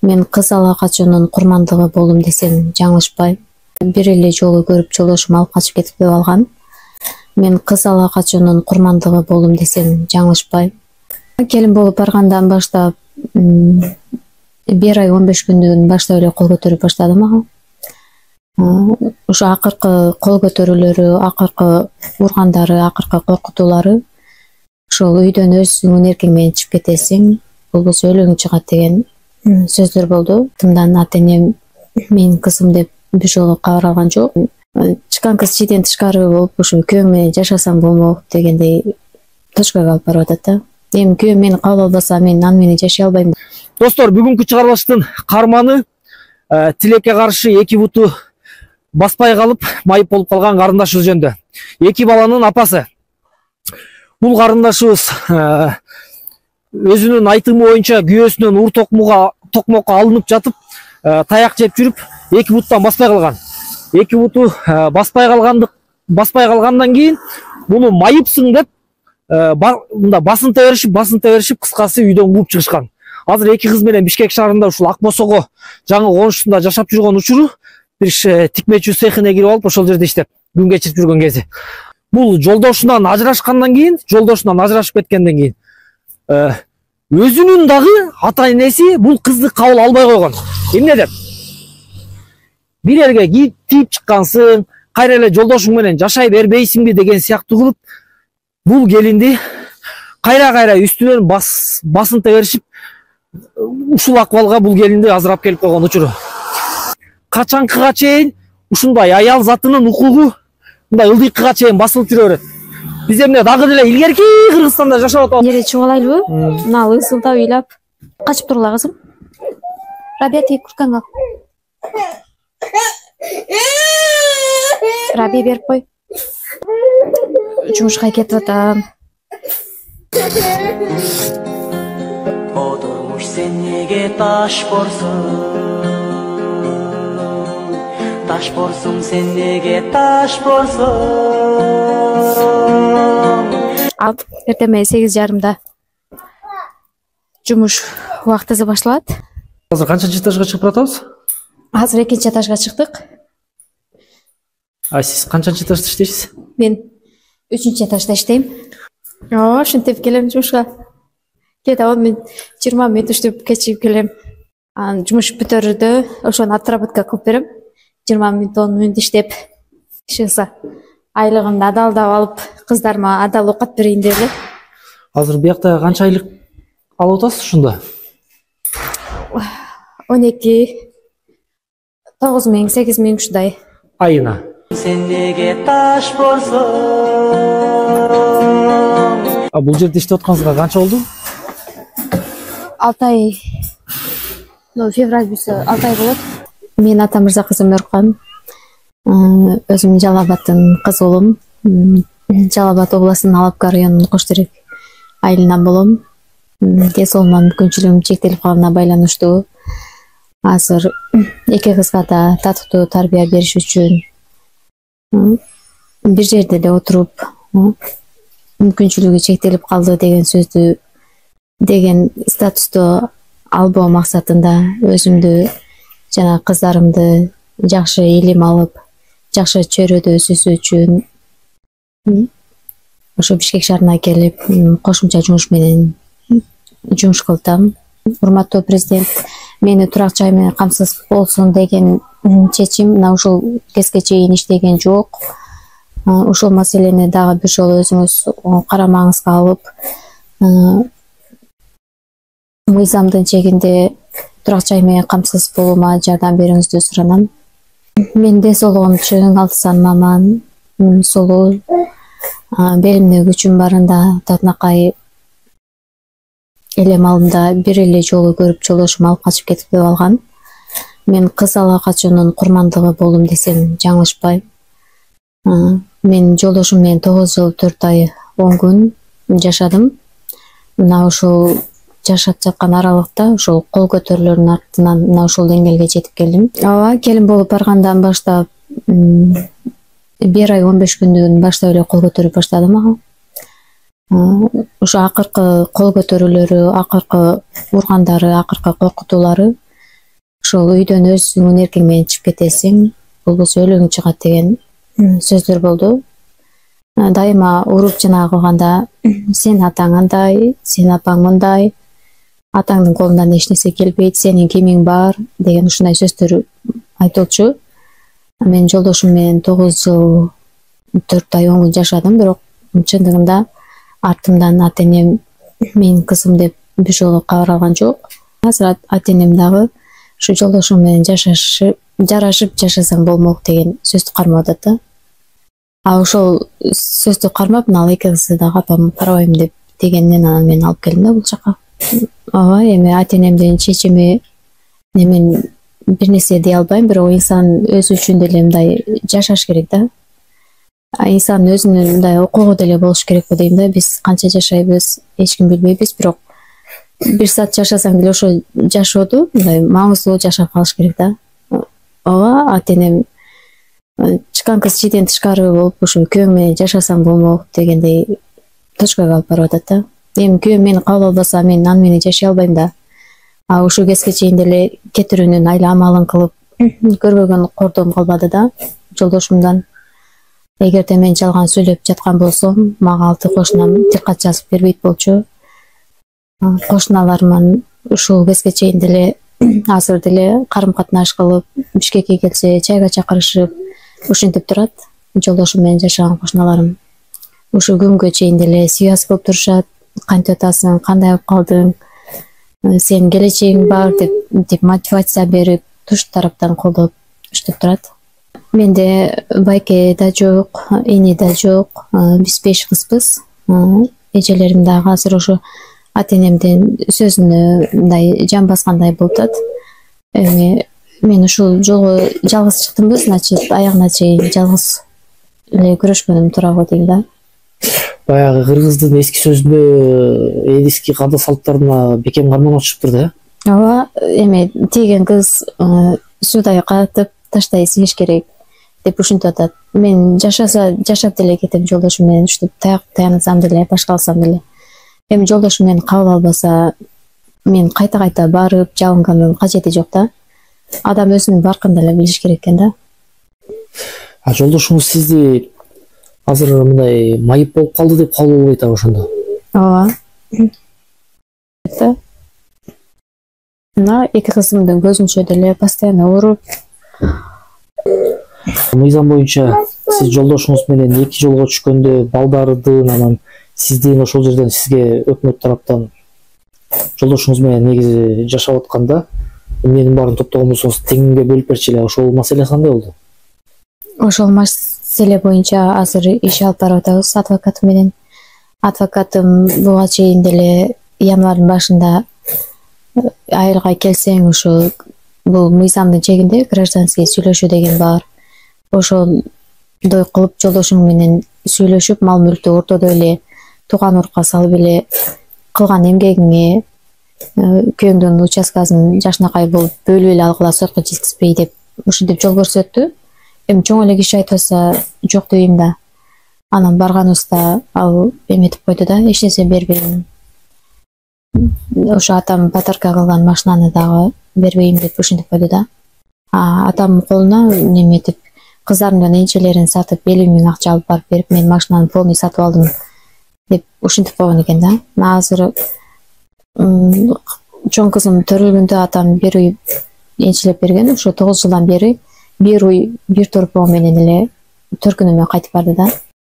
Мен кыз ала качуунун курмандыгы болдум десем жаңылышпайм. Бир эле жолу көрүп жолдошум алып качып кетип калган. Мен кыз ала качуунун курмандыгы болдум десем жаңылышпайм. Келин болуп баргандан баштап 1 ай 15 күндөн баштап эле кол көтөрүп баштады мага. Ошо акыркы кол көтөрүүлөрү, акыркы ургандары, акыркы коркутуулары ошол үйдөн өзүңдүн эркиң менен чыгып кетесиң, болбосо өлүгүң чыгат деген сөздөр болду. Тымдан ата энем менин кызым деп бир жолу кабар алган жок. Чыккан кыз чийден тышкары болуп, ошо күйөөң менен жашасаң болмок дегендей точкага алып барып атат да. Эми күйөөм мени кабыл албаса, мен аны менен жашай албайм. Достор, бүгүнкү чыгарылыштын карманы тилекке каршы 2 буту баспай калып, майып болуп калган карындашыбыз жөнүндө. 2 баланын апасы. Бул карындашыбыз өзүнүн айтымы боюнча күйөөсүнөн ур токмокко алынып жатып, таяк жеп жүрүп, 2 буттан баспай калган. 2 буту баспай калгандан кийин муну майыпсың деп мында басынта беришип, кыскасы үйдөн кууп чыгышкан. Азыр 2 кыз менен Бишкек шаарында ушул Ак Босого жаңы конушунда жашап жүргөн учуру бир тикмечүү цехине кирип алып, ошол жерде иштеп күн кечирип жүргөн кези. Бул жолдошунан ажырашып кеткенден кийин өзүнүн дагы ата энеси бул кызды кабыл албай койгон. Эмне деп? Бир жерге тийип чыккансың, кайра эле жолдошуң менен жашай бербейсиңби деген сыяктуу кылып, бул келинди кайра үстүнөн басынта беришип, ушул акыбалга бул келинди азыр алып келип койгон учуру. Качанкыга чейин ушундай аял затынын укугу мындай ылдыйкыга чейин басылып жүрө берет. Биз эмне дагы деле илгерки Кыргызстанда жашап атабыз. Жерге чыгып алайлыбы? Мына ысылдап ыйлап качып тургула кызым. Рабия, тиги курткаңды ал. Рабия, берип кой. Жумушка кетип атам. Отурмуш сен неге таш борсуң сен неге таш борсуң. Эртең 8:30 жумуш убактысы башталат. Азыр канчанчы этажга чыгып атабыз? Азыр 2-нчи этажга чыктык. Сиз канчанчы этажда иштейсиз? Мен 3-нчи этажда иштейм. Ошентип келем жумушка. Кээде 10 мүнөт, 20 мүнөт иштеп кечигип келем. Анан жумуш бүтөрүдө ошону отработка кылып берем. 20 мүнөт, 10 мүнөт иштеп, чыкса айлыгымды адалдап алып, кыздарыма адал оокат берейин деп эле. Азыр биякта канча айлык алып атасыз ушунда? 12, 9 миң, 8 миң ушундай. Айына. Сен неге таш борсуң. Бул жерде иштеп атканыңызга канча болду? 6 ай. Февраль бүтсө 6 ай болот. Мен Атамырза кызым Өркан. Өзүм Жалал Абадтын кызы болом. Жалал Абад областынын Алапка районунун Коштөрөк айылынан болом. Ден соолугуман мүмкүнчүлүгүм чектелип калганына байланыштуу азыр 2 кызга да татыктуу тарбия бериш үчүн бир жерде эле отуруп мүмкүнчүлүгү чектелип калды деген статусту албоо максатында өзүмдү жана кыздарымды жакшы илим алып, жакшы чөйрөдө өсүшү үчүн ошо Бишкек шаарына келип, кошумча жумуш менен жумуш кылдым. Урматтуу президент мени турак жай менен камсыз болсун деген чечим мына ушул кезге чейин иштеген жок. Ушул маселени дагы бир жолу өзүңүз карамаңызга алып, мыйзамдын чегинде турак жай менен камсыз болуума жардам берүүңүздү суранам. Мен ден соолугум чың, 6 санаман, солуу, белимде күчүм барында татынакай эле малымда бир эле жолу көрүп жолдошум алып качып кетип калган. Мен кыз ала качуунун курмандыгы болдум десем жаңылышпайм. Мен жолдошум менен 9 жыл 4 ай 10 күн жашадым. Мына ушул жашап жаткан аралыкта ушул кол көтөрүүлөрдүн артынан мына ушул деңгээлге жетип келдим. Келин болуп баргандан баштап 1 ай 15 күндөн баштап эле кол көтөрүп баштады мага. Ошо акыркы кол көтөрүүлөрү, акыркы ургандары, акыркы коркутуулары ошол үйдөн өзүңдүн эркиң менен чыгып кетесиң, болбосо өлүгүң чыгат деген сөздөр болду. Дайыма уруп жана кылганда сен атаң андай, сен апаң мындай, атаңдын колундан эч нерсе келбейт, сенин кимиң бар деген ушундай сөздөр айтылчу. Мен жолдошум менен 9 жыл 4 ай 10 күн жашадым, бирок чындыгында артымдан ата-энем менин кызым деп бир жолу кабар алган жок. Азыр ата-энем дагы ушу жолдошум менен жарашып жашасаң болмок деген сөздү кармап атат да. Ошол сөздү кармап, мына эки кызды да апам карабайм деп дегеннен анан мен алып келдим да бул жака. Ооба, эми ата-энемдин чечими мен бир нерсе дей албайм, бирок инсан өзү үчүн деле мындай жашаш керек да. Инсан өзүнүн мындай укугу деле болуш керек го дейм да. Биз канча жашайбыз эч ким билбейбиз, бирок бир саат жашасаң деле ошо жашоодо мындай маңыздуу жашап калыш керек да. Ооба, ата-энем чыккан кыз чийден тышкары болуп ушу күйөөң менен жашасаң болмок дегендей точкага алып барып атат да. Эми күйөөм мени кабыл албаса мен аны менен жашай албайм да. Ушул кезге чейин деле кетирүүнүн айла амалын кылып көрбөгөн кордом калбады да жолдошумдан. Эгерде мен жалган сүйлөп жаткан болсом, мага алты кошунам тилкат жазып бербейт болчу. Кошуналарым ушул кезге чейин деле азыр деле карым катнаш кылып, Бишкекке келсе чайга чакырышып, ушинтип турат. Жолдошум менен жашаган кошуналарым ушул күнгө чейин деле связь кылып турушат. Кантип атасың, кандай болуп калдың, сен келечегиң бар деп мотивация берип, туш тараптан колдоп иштеп турат. Менде байке да жок, эне да жок, биз 5 кызбыз. Эжелерим дагы азыр ошо ата-энемдин сөзүнө мындай жан баскандай болуп атат. Эми мен ушул жолго жалгыз чыктымбы, значит, аягына чейин жалгыз эле күрөшкөнүм туура го дейм да. Баягы кыргыздын эски сөзүндө эски каада салттарына бекем карманып чыгыптыр да. Ооба, эми тийген кыз суудай катып таштай сигиш керек деп ушинтип атат. Мен жашап деле кетем жолдошум менен уштуп таянсам деле, башка алсам деле. Эми жолдошум мени кабыл албаса, мен кайта барып жалынгандын кажети жок да. Адам өзүнүн баркын деле билиш керек экен да. Жолдошуңуз сизди азыр мындай майып болуп калды деп кабыл албайт ошондо? Ооба. Мына эки кызымдын көзүнчө деле постоянно уруп. Мыйзам боюнча сиз жолдошуңуз менен 2 жолго түшкөндө балдардын анан сиздин ошол жерден сизге өкмөт тараптан жолдошуңуз менен негизи жашап атканда эмненин баарын топтогон болсоңуз теңге бөлүп берчи эле. Ошол маселе кандай болду? Ошол маселе боюнча азыр иш алып барып атабыз адвокатым менен. Адвокатым буга чейин деле январдын башында айылга келсең ошо бул мыйзамдын чегинде гражданский сүйлөшүү деген бар. Ошондой кылып жолдошуң менен сүйлөшүп, мал мүлктү ортодо эле тууган урукка салып эле кылган эмгегиңе күйөөңдүн участкасын жакшынакай болуп бөлүп эле алгыла, сотко жеткизбей деп ушинтип жол көрсөттү. Эми чоң эле киши айтпаса жок дейм да. Анан барганыбызда ал эметип койду да, эч нерсе бербейм. Ошо атам подарка кылган машинаны дагы бербейм деп ушинтип койду да. Атам колуна неметип кыздарымдын энчелерин сатып 50 000 акча алып барып берип, мен машинаны полный сатып алдым деп ушинтип койгон экен да. Азыр чоң кызым төрөлгөндө атам бир уй энчилеп берген. Ошо 9 жылдан бери бир уй бир торпоо менен эле төркүнүмө кайтып барды да.